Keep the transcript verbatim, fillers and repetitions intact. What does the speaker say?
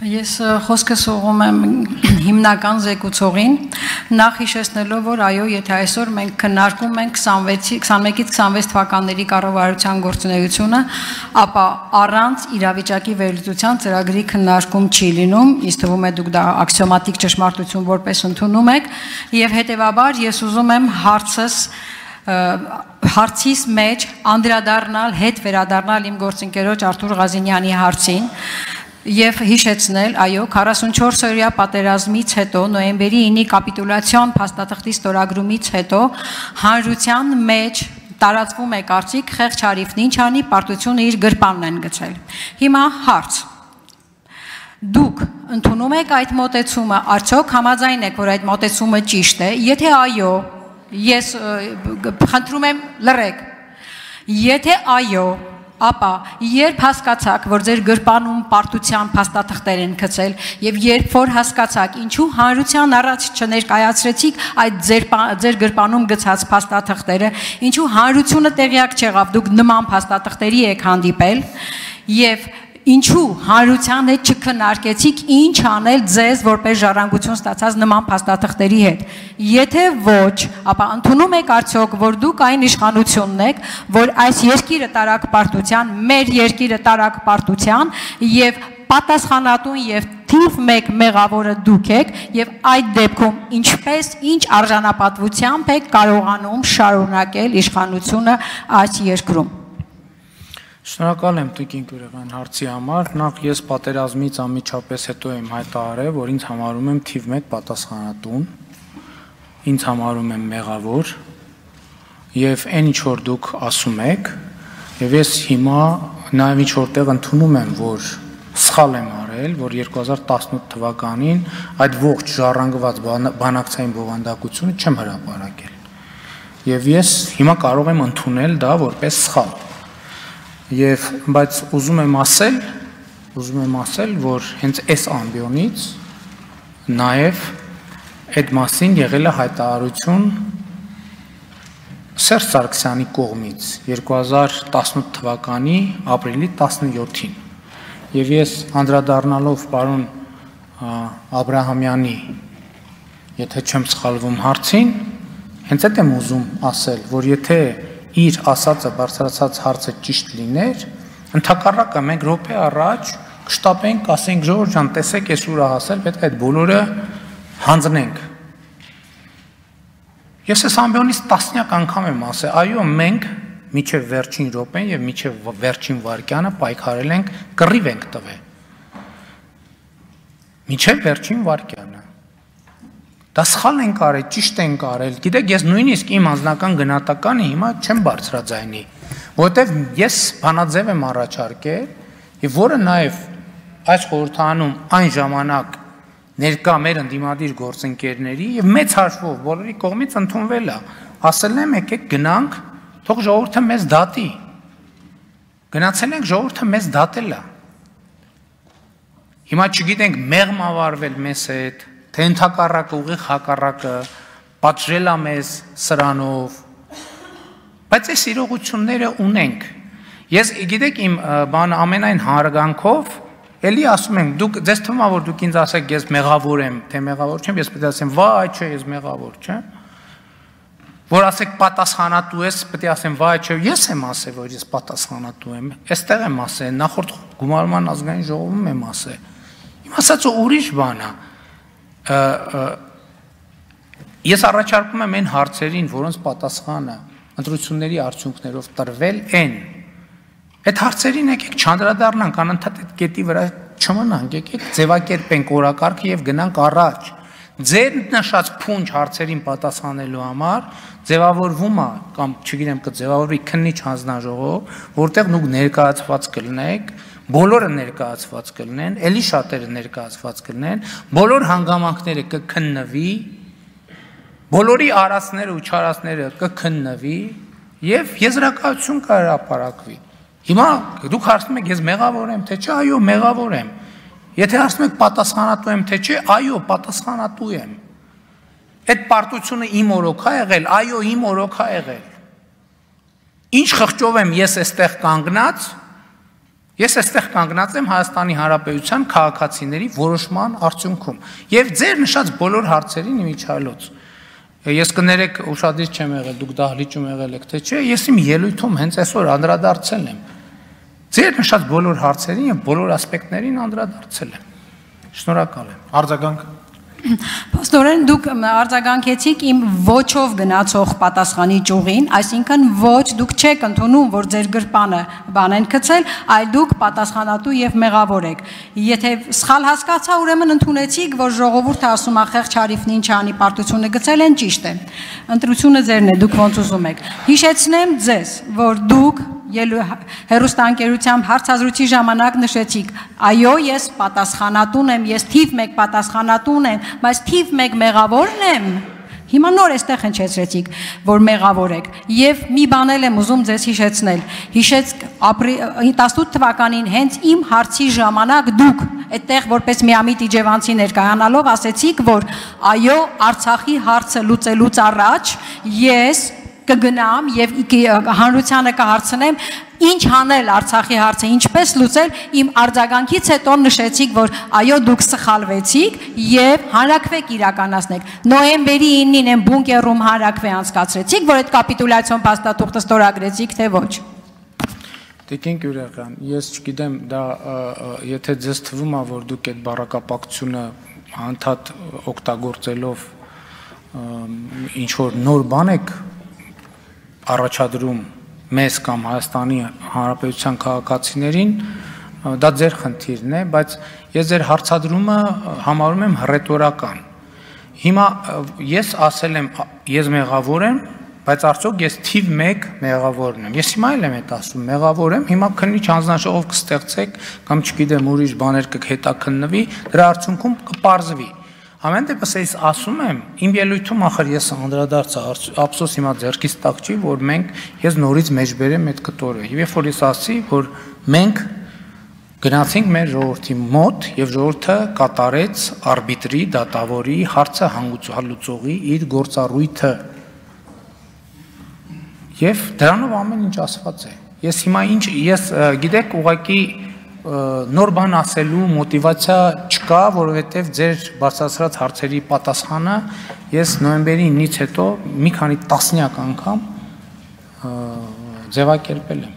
Ես խոսքս ուղղում եմ հիմնական զեկուցողին, նախ հիշեցնելով, որ այո, եթե այսօր մենք քննարկում ենք քսանմեկից քսանվեց թվականների կառավարության գործունեությունը, ապա առանց իրավիճակի վերլուծության ծրագրի քննարկում չի լինում, ինձ թվում է դուք դա աքսիոմատիկ ճշմարտություն որպես ընդունում եք, եւ հետեւաբար ես ուզում եմ հարցս հարցիս մեջ անդրադառնալ, հետ վերադառնալ իմ գործընկերոջ Արթուր Ղազինյանի հարցին. Եվ հիշեցնել, այո, քառասունչորս օրյա պատերազմից հետո, նոյեմբերի ինի կապիտուլյացիոն փաստաթղթի ստորագրումից հետո հանրության մեջ տարածվում է կարծիք, խեղճ Արիֆն ինչ անի, պարտությունը իր գրպանն են գցել։ Հիմա հարց. Դուք ընդունում եք այդ մոտեցումը, արդյոք համաձայն եք, որ այդ մոտեցումը ճիշտ է, եթե այո, ես խնդրում եմ լռեք, եթե այո, ապա երբ հասկացաք, որ ձեր գրպանում պարտության փաստաթղթեր են գցել եւ երբ որ հասկացաք, ինչու հանրության առաջ չներկայացրեցիք այդ ձեր ձեր գրպանում գցած փաստաթղթերը, ինչու հանրությունը տեղյակ չեղավ, դուք նման փաստաթղթերի եք հանդիպել եւ ինչու հանրության հետ չքննարկեցիք ինչ անել ձեզ որպես ժառանգություն ստացած նման փաստաթղթերի հետ։ Եթե ոչ, ապա ընդունում եք արդյոք, որ դուք այն իշխանությունն եք, որ այս երկիրը տարակ պարտության, մեր երկիրը տարակ պարտության եւ պատասխանատուն եւ թիվ մեկ մեղավորը դուք եք եւ այդ դեպքում ինչպես ինչ արժանապատվությամբ եք կարողանում շարունակել իշխանությունը այս երկրում։ Շնորհակալ եմ Տիկին Կուրեղյան հարցի համար, նախ ես պատերազմից անմիջապես հետո եմ հայտարարել, որ ինձ համարում եմ թիվ մեկ պատասխանատուն, ինձ համարում եմ մեղավոր եւ այն ինչ որ դուք ասում եք, եւ ես հիմա նաեւ ինչ որտեղ ընդունում եմ, որ սխալ եմ արել, որ երկու հազար տասնութ թվականին այդ ողջ ժառանգված բանակցային բովանդակությունը չեմ հրապարակել։ Եվ ես հիմա կարող եմ ընդունել դա որպես սխալ։ Եվ բայց ուզում եմ ասել, ուզում եմ ասել, որ հենց այս ամբիոնից նաև այդ մասին եղել է հայտարարություն Սերժ Սարգսյանի կողմից երկու հազար տասնութ թվականի ապրիլի տասնյոթին։ Եվ ես անդրադառնալով պարոն Աբրահամյանի, եթե չեմ սխալվում հարցին, հենց այդ եմ ուզում ասել, որ եթե իր ասածը բարձրացած հարցը ճիշտ լիներ, ընդհակառակը մենք րոպե առաջ կշտապենք, ասենք Ժորժ ջան, տեսեք, ես ուր հասել, պետք է այդ բոլորը հանձնենք։ Ես այս ամբիոնից տասնյակ անգամ եմ ասել, այո, մենք միջև վերջին րոպեն եւ միջև վերջին վայրկյանը պայքարել ենք, կռիվ ենք տվել։ Միջև վերջին վայրկյանը։ Դա սխալ ենք արել, ճիշտ ենք արել։ Գիտեք, ես նույնիսկ իմ անձնական գնահատականը հիմա չեմ բարձրաձայնի, որովհետև ես բանաձև եմ առաջարկել, եւ որը նաեւ այս խորհրդանում այն ժամանակ ներկա մեր ընդդիմադիր գործընկերների եւ մեծ հաշվով բոլորի կողմից ընդունվել է։ Ասել եմ, եկեք գնանք, թող ժողովուրդը մեզ դատի։ Գնացել ենք, ժողովուրդը մեզ դատել է։ Հիմա չգիտենք մեղմ ավարվել մեզ հետ, թե ընդհակառակը ուղիղ հակառակը պատժել է մեզ սրանով, բայց այս իրողությունները ունենք։ Ես գիտեք իմ բանը ամենայն հարգանքով էլի ասում եմ, դուք ձեզ թվում է որ դուք ինձ ասեք ես մեղավոր եմ, թե մեղավոր չեմ, ես պետք է ասեմ վայ չէ, ես մեղավոր չեմ։ Որ ասեք պատասխանատու ես, պետք է ասեմ վայ չէ, ես եմ ասել որ ես պատասխանատու եմ։ Այստեղ եմ ասել, նախորդ գումարման ազգային ժողովում եմ ասել։ Իմ ասածը ուրիշ բան է։ Ես առաջարկում եմ այն հարցերին, որոնց պատասխանը ընտրությունների արդյունքներով տրվել են, այդ հարցերին եկեք չանդրադառնանք, անընդհատ այդ կետի վրա չմնանք, եկեք ձևակերպենք օրակարգը եւ գնանք առաջ։ Ձեր նշած փունջ հարցերին պատասխանելու համար ձևավորվում է կամ չգիտեմ կձևավորվի քննիչ հանձնաժողով, որտեղ դուք ներկայացված կլինեք, բոլորը ներկայացված կլինեն, ելի շատերը ներկայացված կլինեն, բոլոր հանգամանքները կքննվի, բոլորի արածները ու չարածները կքննվի եւ եզրակացություն կհրապարակվի։ Հիմա դուք հարցնում եք ես մեղավոր եմ թե չէ, այո, մեղավոր եմ։ Եթե հարցնում եք պատասխանատու եմ թե չէ, այո, պատասխանատու եմ։ Այդ պարտությունը իմ օրոք է եղել, այո, իմ օրոք է եղել։ Ինչ խղճով եմ ես այստեղ կանգնած, Ես այստեղ կանգնած եմ Հայաստանի Հանրապետության քաղաքացիների որոշման արդյունքում եւ ձեր նշած բոլոր հարցերին իմիջայլոց։ Ես կներեք ուշադիր չեմ եղել, դուք դահլիճում եղել եք թե չէ, ես իմ ելույթում հենց այսօր անդրադարձել եմ ձեր նշած բոլոր հարցերին եւ բոլոր ասպեկտներին անդրադարձել եմ։ Շնորհակալ եմ։ Արձագանք։ Պաստորեն, դուք արձագանքեցիք իմ ոչով գնացող պատասխանի ճյուղին, այսինքն ոչ, դուք չեք ընդունում, որ ձեր գրպանը բան են գցել, այլ դուք պատասխանատու եւ մեղավոր եք։ Եթե սխալ հասկացա, ուրեմն ընդունեցիք, որ ժողովուրդը ասում է խեղճ Արիֆն ինչ անի, պարտությունը գցել են, ճիշտ է։ Ընտրությունը ձերն է, դուք ոնց ուզում եք։ Հիշեցնեմ ձեզ, որ դուք հեռուստաընկերությամբ հարցազրույցի ժամանակ նշեցիք, այո, ես պատասխանատուն եմ, ես թիվ մեկ պատասխանատուն եմ, բայց թիվ մեկ մեղավորն եմ։ Հիմա նոր էստեղ հնչեցրեցիք, որ մեղավոր եք, եւ մի բան եմ ուզում ձեզ հիշեցնել։ Հիշեց տասնութ թվականին հենց իմ հարցի ժամանակ դուք այդտեղ որպես միամիտ իջևանցի ներկայանալով ասեցիք, որ այո, Արցախի հարցը լուծելուց առաջ ես կգնամ եւ հանրությանը կհարցնեմ ինչ անել Արցախի հարցը, ինչպես լուծել, իմ արձագանքից հետո նշեցիք, որ այո դուք սխալվեցիք եւ հանրակրվեք իրականացնեք։ Նոյեմբերի իննին են բունկերում հանրակրվե անցկացրեցիք, որ այդ կապիտուլյացիոն փաստաթուղթը ստորագրեցիք, թե ոչ։ Տիկին Գյուրեղյան, ես չգիտեմ, դա եթե ձեզ թվում է, որ դուք այդ բառակապակցությունը անդադ օգտագործելով ինչ որ նոր բան եք առաջադրում մեզ կամ Հայաստանի Հանրապետության քաղաքացիներին, դա ձեր խնդիրն է, բայց ես ձեր հարցադրումը համարում եմ հռետորական։ Հիմա ես ասել եմ, ես մեղավոր եմ, բայց արդյոք ես թիվ մեկ մեղավորն եմ։ Ես հիմա էլ եմ այդ ասում, մեղավոր եմ, հիմա քննիչ հանձնաժողով կստեղծեք կամ չգիտեմ ուրիշ բաներ կհետաքննվի, դրա արդյունքում կպարզվի։ Ամեն դեպս ես ասում եմ, իմ ելույթում ախր ես անդրադարձա, ափսոս հիմա ձեռքից տակ չի, որ մենք ես նորից մեջբերեմ այդ կտորը։ Եվ երբ որ ես ասի, որ մենք գնացինք մեր ժողովրդի մոտ եւ ժողովուրդը կատարեց արբիտրի, դատավորի, հարցը հանգուցալուծողի իր գործառույթը։ Եվ դրանով ամեն ինչ ասված է։ Ես հիմա ինչ ես գիտեք ուղղակի նոր բան ասելու մոտիվացիա չկա, որովհետև ձեր բարձրացրած հարցերի պատասխանը ես նոյեմբերի իննից հետո մի քանի տասնյակ անգամ ձևակերպել եմ։